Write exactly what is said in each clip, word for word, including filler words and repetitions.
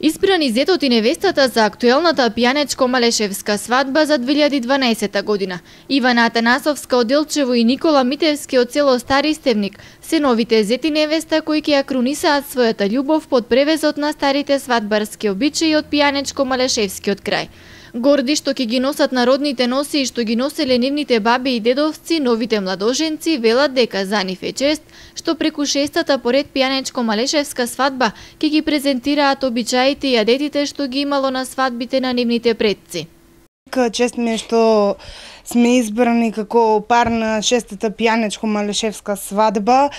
Избрани зетот и невестата за актуелната пијанечко-малешевска свадба за две илјади и дванаесета година. Ивана Атанасовска од Делчево и Никола Митевски од село Стари Стевник се новите зет и невеста кои ќе ја крунисаат својата љубов под превезот на старите свадбарски обичаи од пијанечко-малешевскиот крај. Горди што ќе ги носат народните носи и што ги носеле нивните баби и дедовци, новите младоженци велат дека за нив е чест што преку шестата поред пијанечко-малешевска свадба ќе ги презентираат обичаите и јадетите што ги имало на свадбите на нивните предци. Чест ми е што сме избрани како пар на шестата пијанечко-малешевска свадба.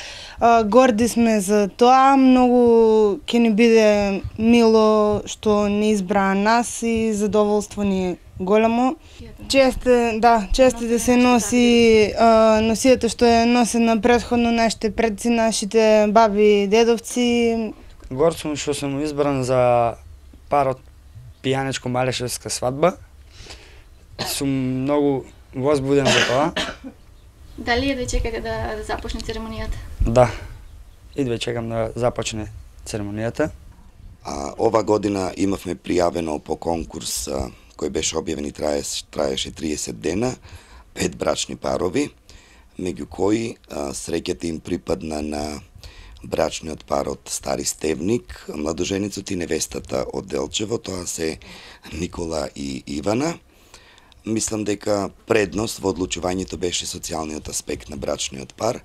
Горди сме за тоа, многу ќе ни биде мило што ни избраа нас и задоволство ни е големо. Чест е, да, чест е да се носи носијата што е носена претходно нашите предци, нашите баби и дедовци. Горд сум што сум избран за пар од пијанечко-малешевска свадба. Сум многу возбуден за тоа. Дали едва чекате да започне церемонијата? Да, едва чекам да започне церемонијата. А, ова година имавме пријавено по конкурс а, кој беше објавен и траеше, траеше триесет дена, пет брачни парови, меѓу кои а, среќата им припадна на брачниот пар од Стари Стевник, младоженицот и невестата од Делчево, тоа се Никола и Ивана. Мислам дека предност во одлучувањето беше социјалниот аспект на брачниот пар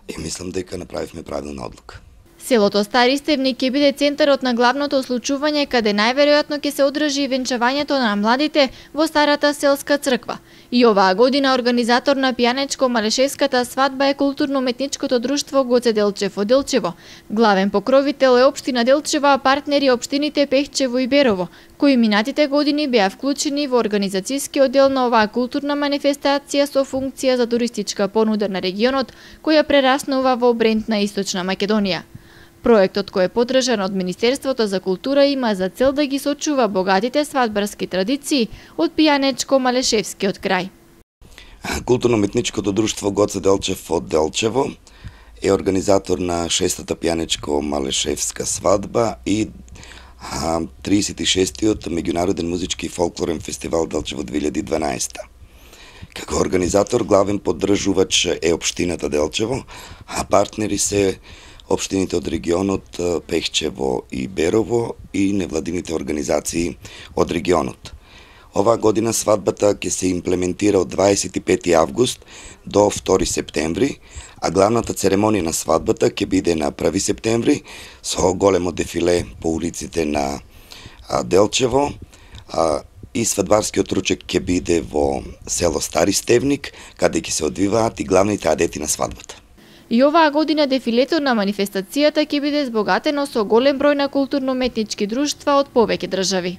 и мислам дека направивме правилна одлука. Селото Стари Стевник ќе биде центарот на главното случување каде најверојатно ќе се одржи венчавањето на младите во старата селска црква. И оваа година организатор на пијанечко-малешевската свадба е културно-уметничкото друштво Гоце Делчев од Делчево. Главен покровител е општина Делчево, а партнери општините Пехчево и Берово, кои минатите години беа вклучени во организацијскиот дел на оваа културна манифестација со функција за туристичка понуда на регионот, која прераснува во бренд на Источна Македонија. Проектот кој е поддржан од Министерството за култура има за цел да ги сочува богатите свадбарски традиции од пијанечко-малешевскиот крај. Културно-уметничкото друштво Гоце Делчев од Делчево е организатор на шестата пијанечко-малешевска свадба и тридесет и шестиот меѓународен музички и фолклорен фестивал Делчево две илјади и дванаесета. Како организатор главен поддржувач е општината Делчево, а партнери се општините од регионот Пехчево и Берово и невладините организации од регионот. Оваа година свадбата ќе се имплементира од дваесет и пети август до втори септември, а главната церемонија на свадбата ќе биде на први септември со големо дефиле по улиците на Делчево и свадбарскиот ручек ќе биде во село Стари Стевник, каде ќе се одвиваат и главните адети на свадбата. И оваа година дефилето на манифестацијата ќе биде збогатено со голем број на културно-уметнички друштва од повеќе држави.